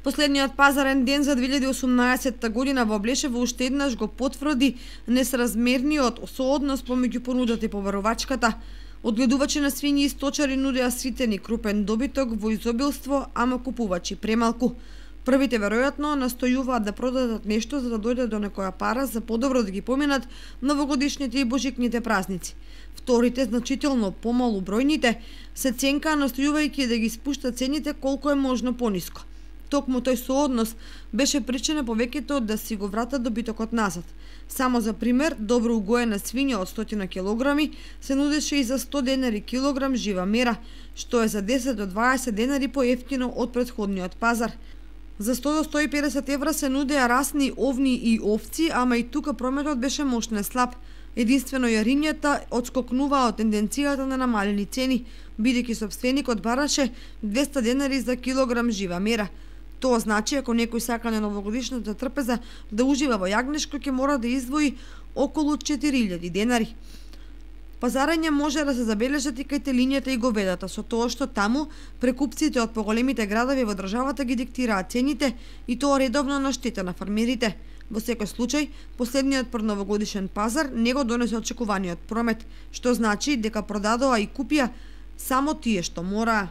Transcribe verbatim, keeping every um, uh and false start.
Последниот пазарен ден за две илјади и осумнаесетта година во Блешево уште еднаш го потврди несразмерниот сооднос помеѓу понудата и побарувачката. Одгледувачи на свињи и сточари нудеа ситен и крупен добиток во изобилство, ама купувачи премалку. Првите веројатно настојуваат да продадат нешто за да дојде до некоја пара за подобро да ги поминат новогодишните и божикните празници. Вторите, значително помалу бројните, се ценкаа настојувајќи да ги спушта цените колку е можно пониско. Токму тој сооднос беше причина повеќето да си го вратат добитокот назад. Само за пример, добро угоена свиња од сто килограми се нудеше и за сто денари килограм жива мера, што е за десет до дваесет денари поевтино од претходниот пазар. За сто до сто и педесет евра се нудеа расни овни и овци, ама и тука прометот беше мощно слаб. Единствено јарињата одскокнуваа од тенденцијата на намалени цени, бидејќи сопственикот бараше двесте денари за килограм жива мера. Тоа значи, ако некој сака на новогодишната трпеза да ужива во јагнешко, ќе мора да издвои околу четири илјади денари. Пазарање може да се забележат и кај телињата и говедата, со тоа што таму прекупците од поголемите градови во државата ги диктираат цените и тоа редовно на штета на фармерите. Во секој случај, последниот предновогодишен пазар не го донесе очекуваниот промет, што значи дека продадоа и купија само тие што мораа.